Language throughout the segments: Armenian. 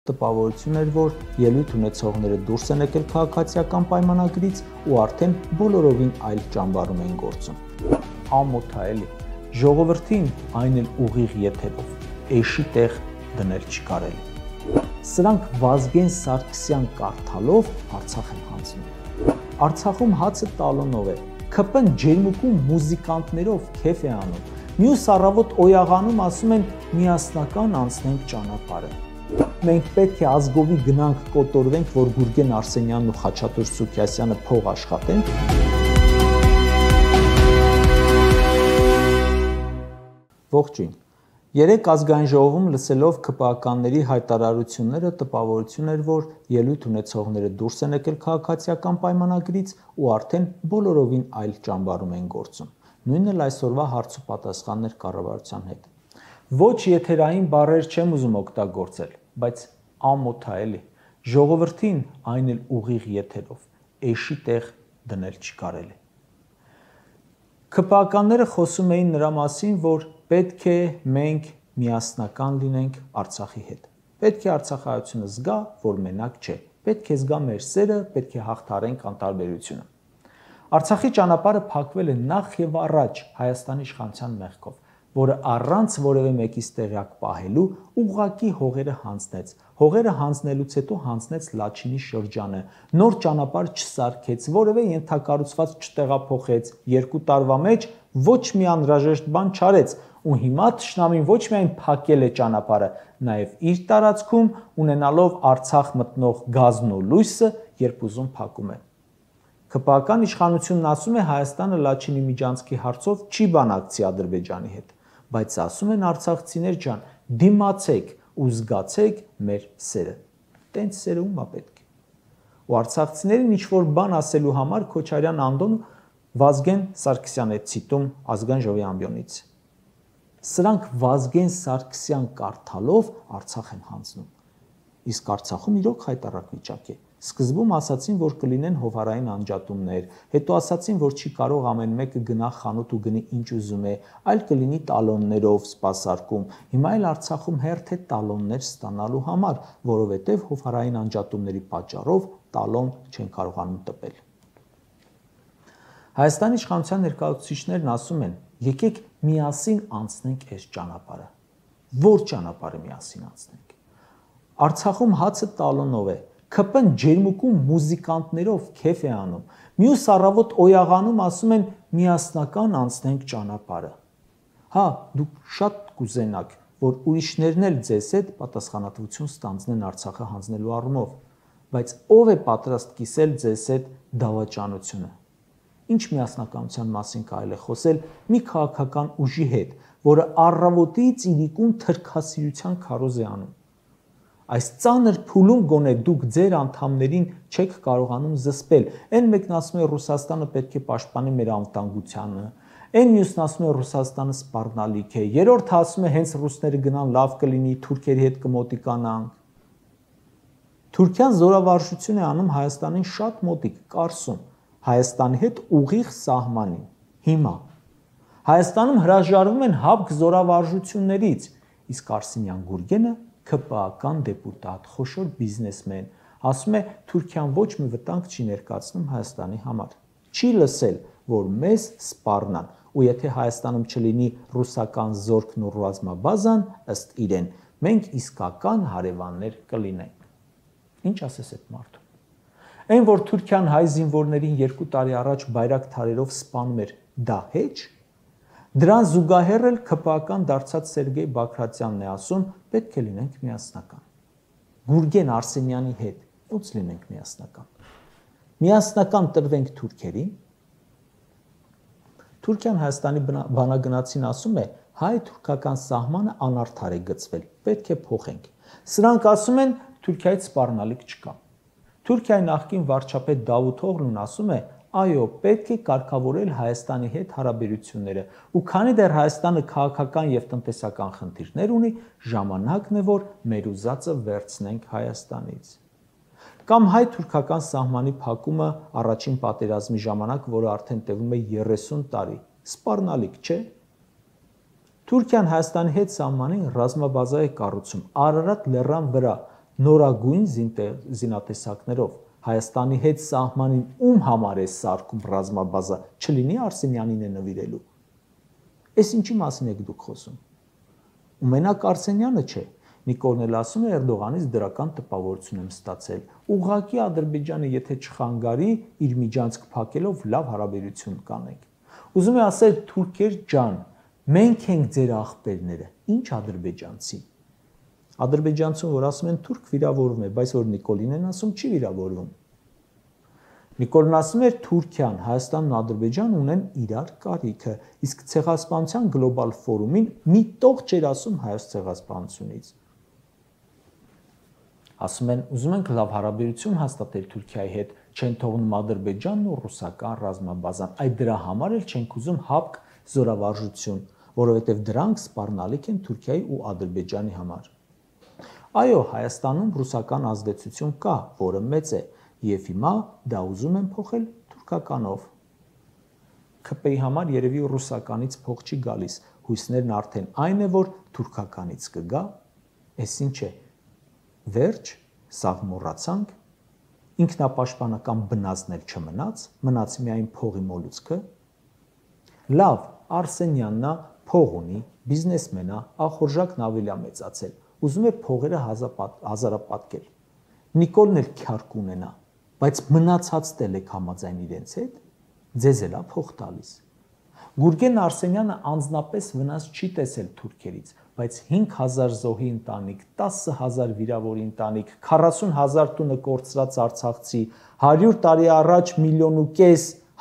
Տպավորություն էր, որ ելույթ ունեցողները դուրս են եկել քաղաքացիական պայմանագրից ու արդեն բոլորովին այլ ճամբարում են գործում։ Ամոթ է էլի, ժողովրդին այն էլ ուղիղ եթերով, էշի տեղ դնել չի կարելի։ Սրանք Վազգեն Սարգսյան կարդալով Արցախ են հանձնում։ Արցախում հացը տալոնով է, ՔՊ-ն ջերմուկում մուզիկանտներով քեֆ է անում, մյուս առավոտ օյաղանում ասում են միասնական անցնենք ճանապարհը։ Մենք պետք է ազգովի գնանք կոտորվենք, որ Գուրգեն Արսենյանն ու Խաչատուր Սուքիասյանը փող աշխատեն։ Ողջույն։ Երեկ ազգային ժողովում լսելով ՔՊԱ-կանների հայտարարությունները տպավորություն էր, որ ելույթ ունեցողները դուրս են եկել քաղաքացիական պայմանագրից ու արդեն բոլորովին այլ ճամբարում են գործում։ Նույնն էլ այսօրվա հարց ու պատասխաններ կառավարության հետ։ Ոչ եթերային բառեր չեմ ուզում օգտագործել, բայց ամոթ է էլի, ժողովրդին այն էլ ուղիղ եթերով, էշի տեղ դնել չի կարելի։ ՔՊԱ-կանները խոսում էին նրա մասին, որ պետք է մենք միասնական լինենք Արցախի հետ։ Պետք է արցախայությունը զգա, որ մենակ չէ։ Պետք է զգա մեր սերը, պետք է հաղթարենք անտարբերությունը։ Արցախի ճանապարհը փակվել է նախ եւ առաջ Հայաստանի իշխանության մեղքով, որը առանց որևէ մեկից տեղյակ պահելու ուղղակի հողերը հանձնեց։ Հողերը հանձնելուց հետո հանձնեց Լաչինի շրջանը, նոր ճանապարհ չսարքեց, որևէ ենթակառուցված չտեղափոխեց, 2 տարվա մեջ ոչ մի անհրաժեշտ բան չարեց, ու հիմա թշնամին ոչ միայն փակել է ճանապարհը, նաև իր տարածքում ունենալով Արցախ մտնող գազն ու լույսը, երբ ուզում փակում է։ ՔՊԱ-կան իշխանությունն ասում է Հայաստանը Լաչինի միջանցքի հարցով չի բանակցի Ադրբեջանի հետ, բայց ասում են արցախցիներ ջան, դիմացեք ու զգացեք մեր սերը։ Տենց սերը ումա պետք է։ Ու արցախցիներին ինչ-որ բան ասելու համար Քոչարյան Անդոն Վազգեն Սարգսյան է ցիտում ազգային ժողովի ամբիոնից։ Սրանք Վազգեն Սարգսյան կարդալով Արցախ են հանձնում։ Իսկ Արցախում իրոք հայտարարակ վիճակ է։ Սկզբում ասացին, որ կլինեն հովհարային անջատումներ, հետո ասացին, որ չի կարող ամեն մեկը գնա խանութ ու գնի ինչ ուզում է, այլ կլինի տալոններով սպասարկում։ Հիմա էլ Արցախում հերթ է տալոններ ստանալու համար, որովհետև հովհարային անջատումների պատճառով տալոն չեն կարողանում տպել։ Հայաստանի իշխանության ներկայացուցիչներն ասում են, եկեք միասին անցնենք այս ճանապարհը։ Որ ճանապարհը միասին անցնենք։ Արցախում հացը տալոնով է, ՔՊ-ն ջերմուկում մուզիկանտներով քեֆ է անում, մյուս առավոտ օյաղանում ասում են միասնական անցնենք ճանապարհը։ Հա, դուք շատ կուզենաք, որ ուրիշներն էլ ձեզ հետ պատասխանատվություն ստանձնեն Արցախը հանձնելու առումով, բայց ով է պատրաստ կիսել ձեզ հետ դավաճանությունը։ Ինչ միասնականության մասին կարելի է խոսել մի քաղաքական ուժի հետ, որը առավոտից իրիկուն թրքասիրության քարոզ է անում։ Այս ծանր փուլում գոնե դուք ձեր անդամներին չեք կարողանում զսպել։ Այն մեկն ասում է Ռուսաստանը պետք է պաշտպանի մեր անվտանգությունը, այն մյուսն ասում է Ռուսաստանը սպառնալիք է, երրորդը ասում է հենց ռուսները գնան լավ կլինի, թուրքերի հետ կմոտիկանանք։ Թուրքիան զորավարժություն է անում Հայաստանին շատ մոտիկ, Կարսում, Հայաստանի հետ ուղիղ սահմանին։ Հիմա Հայաստանում հրաժարվում են հապկ զորավարժություններից, իսկ Արսենյան Գուրգենը ՔՊԱ-կան դեպուտատ, խոշոր բիզնեսմեն, ասում է Թուրքիան ոչ մի վտանգ չի ներկայացնում Հայաստանի համար։ Չի լսել, որ մեզ սպառնան, ու եթե Հայաստանում չլինի ռուսական զորքն ու ռազմաբազան, ըստ իրեն, մենք իսկական հարևաններ կլինենք։ Ինչ ասես այդ մարդուն։ Այն, որ Թուրքիան հայ զինվորներին 2 տարի առաջ բայրակթարերով սպանում էր, դա հեչ։ Դրան զուգահեռ էլ ՔՊԱ-կան դարձած Սերգեյ Բագրատյանն է ասում, պետք է լինենք միասնական։ Գուրգեն Արսենյանի հետ ոնց լինենք միասնական։ Միասնական տրվենք թուրքերին։ Թուրքիան Հայաստանի բանագնացին ասում է, հայ-թուրքական սահմանը անարդար է գծվել, պետք է փոխենք։ Սրանք ասում են Թուրքիայից սպառնալիք չկա։ Թուրքիայի նախկին վարչապետ Դավութ Օղլուն ասում է, այո, պետք է կարգավորել Հայաստանի հետ հարաբերությունները, ու քանի դեռ Հայաստանը քաղաքական եւ տնտեսական խնդիրներ ունի, ժամանակն է, որ մեր ուզածը վերցնենք Հայաստանից։ Կամ հայ-թուրքական սահմանի փակումը առաջին պատերազմի ժամանակ, որը արդեն տևում է 30 տարի, սպառնալիք չէ։ Թուրքիան Հայաստանի հետ սահմանին ռազմաբազա է կառուցում Արարատ լեռան վրա, նորագույն զինատեսակներով Հայաստանի հետ սահմանին ում համար է սարքում ռազմաբազա, չլինի Արսենյանին է նվիրելու։ Էս ինչի մասին եք դուք խոսում։ Ու մենակ Արսենյանը չէ։ Նիկոլն էլ ասում է Էրդողանից դրական տպավորություն եմ ստացել։ Ուղղակի Ադրբեջանը եթե չխանգարի, իր միջանցք փակելով լավ հարաբերություն կանենք։ Ուզում է ասել թուրքեր ջան, մենք ենք ձեր աղբերները, ինչ ադրբեջանցի։ Ադրբեջանցուն որ ասում են թուրք վիրավորվում է, բայց որ Նիկոլին են ասում չի վիրավորվում։ Նիկոլն ասում էր Թուրքիան, Հայաստանն ու Ադրբեջանը ունեն իրար կարիքը, իսկ ցեղասպանության գլոբալ ֆորումին մի տող չէր ասում հայոց ցեղասպանությունից։ Ասում են ուզում ենք լավ հարաբերություն հաստատել Թուրքիայի հետ, չեն թողնում Ադրբեջանն ու ռուսական ռազմաբազան, այդ դրա համար էլ չենք ուզում հապկ զորավարժություն, որովհետև դրանք սպառնալիք են Թուրքիայի ու Ադրբեջանի համար։ Այո, Հայաստանում ռուսական ազդեցություն կա, որը մեծ է, եւ հիմա դա ուզում են փոխել թուրքականով։ ՔՊ-ի համար երևի ռուսականից փող չի գալիս, հույսներն արդեն այն է, որ թուրքականից կգա, էս ինչ է։ Վերջ, սաղ մոռացանք, ինքնապաշտպանական բնազդներ չմնաց, մնաց միայն փողի մոլուցքը։ Լավ, Արսենյանն է, փող ունի, բիզնեսմեն է, ախորժակն ավելի է մեծացել, ուզում է փողերը հազարապատկել։ Նիկոլն էլ քյարկ ունենա, բայց մնացածն եք համաձայն իրենց հետ, ձեզ էլ է փող տալիս։ Գուրգեն Արսենյանը անձնապես վնաս չի տեսել թուրքերից, բայց 5000 զոհի ընտանիք, 10000 վիրավորի ընտանիք, 40000 տունը կորցրած արցախցի, 100 տարի առաջ 1,5 միլիոն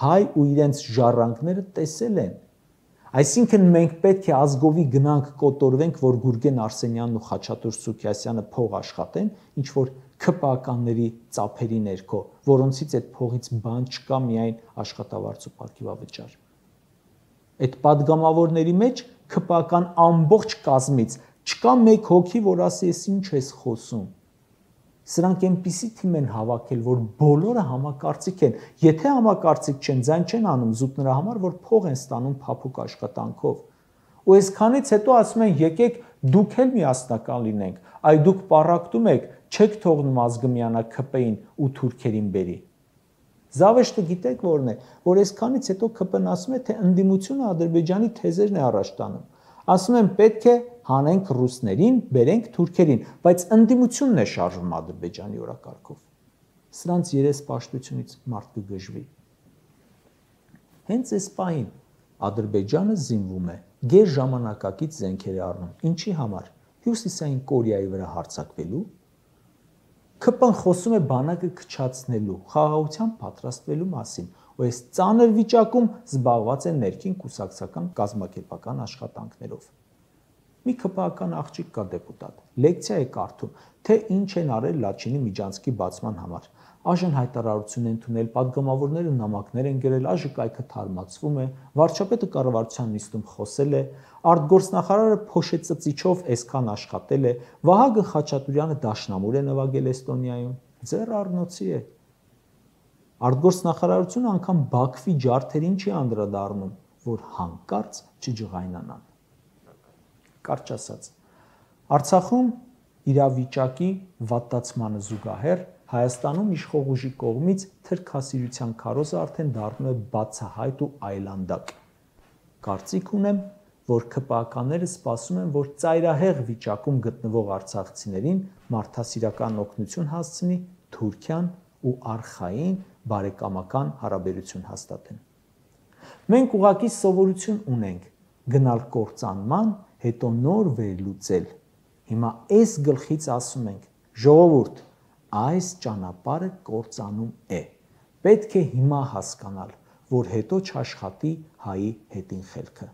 հայ ու իրենց ժառանգները տեսել են։ Այսինքն մենք պետք է ազգովի գնանք կոտորվենք, որ Գուրգեն Արսենյանն ու Խաչատուր Սուքիասյանը փող աշխատեն, ինչ որ ՔՊ-ականների ծափերի ներքո, որոնցից այդ փողից բան չկա, միայն աշխատավարձ ու պարգևավճար։ Այդ падգամավորների մեջ ՔՊ-ական ամբողջ կազմից չկա մեկ հոգի, որ ասի ես ինչ ես խոսում։ Սրանք այնպիսի թիմ են հավաքել, որ բոլորը համակարծիք են։ Եթե համակարծիք չեն, ձայն չեն անում զուտ նրա համար, որ փող են ստանում փափուկ աշխատանքով։ Ու այսքանից հետո ասում են եկեք դուք էլ միասնական լինենք, այ դուք պառակտում եք, չեք թողնում ազգը միանա ՔՊ-ին ու թուրքերին բերի։ Զավեշտը գիտեք որն է, որ այսքանից հետո ՔՊ-ն ասում է, թե ընդդիմությունը Ադրբեջանի թեզերն է առաջ տանում։ Ասում են պետք է հանենք ռուսներին, բերենք թուրքերին, բայց ընդդիմությունն է շարժվում Ադրբեջանի օրակարգով։ Սրանց երեսպաշտությունից մարդ կգժվի։ Հենց այս պահին Ադրբեջանը զինվում է, գեր ժամանակակից զենքեր է առնում։ Ինչի համար։ Հյուսիսային Կորեայի վրա հարձակվելու։ ՔՊ-ն խոսում է բանակը քչացնելու, խաղաղության պատրաստվելու մասին, ու այս ծանր վիճակում զբաղված են ներքին կուսակցական կազմակերպական աշխատանքներով։ Մի ՔՊ-ական աղջիկ կա դեպուտատ, լեկցիա է կարդում, թե ինչ են արել Լաչինի միջանցքի բացման համար։ Այժմ հայտարարություն են ընդունել, падգամավորները նամակներ են գրել, այժմ կայքը թարմացվում է, վարչապետը կառավարության նիստում խոսել է, արտգործնախարարը փոշեցծիչով այսքան աշխատել է, Վահագն Խաչատուրյանը դաշնամուր է նվագել Էստոնիայում, ձեռ առնոցի է։ Արտգործնախարարությունը անգամ Բաքվի ջարդերին չի անդրադառնում, որ հանկարծ չջղայնանան։ Կարճ ասած, Արցախում իրավիճակի վատացմանը զուգահեռ Հայաստանում իշխող ուժի կողմից թրքասիրության քարոզը արդեն դառնում է բացահայտ ու այլանդակ։ Կարծիք ունեմ, որ ՔՊ-ականները սպասում են, որ ծայրահեղ վիճակում գտնվող արցախցիներին մարդասիրական օգնություն հասցնի Թուրքիան ու արխային բարեկամական հարաբերություն հաստատեն։ Մենք ուղղակի սովորություն ունենք գնալ կործանման, հետո նոր վերլուծել։ Հիմա այս գլխից ասում ենք, ժողովուրդ, այս ճանապարհը կործանում է։ Պետք է հիմա հասկանալ, որ հետո չաշխատի հայի հետին խելքը։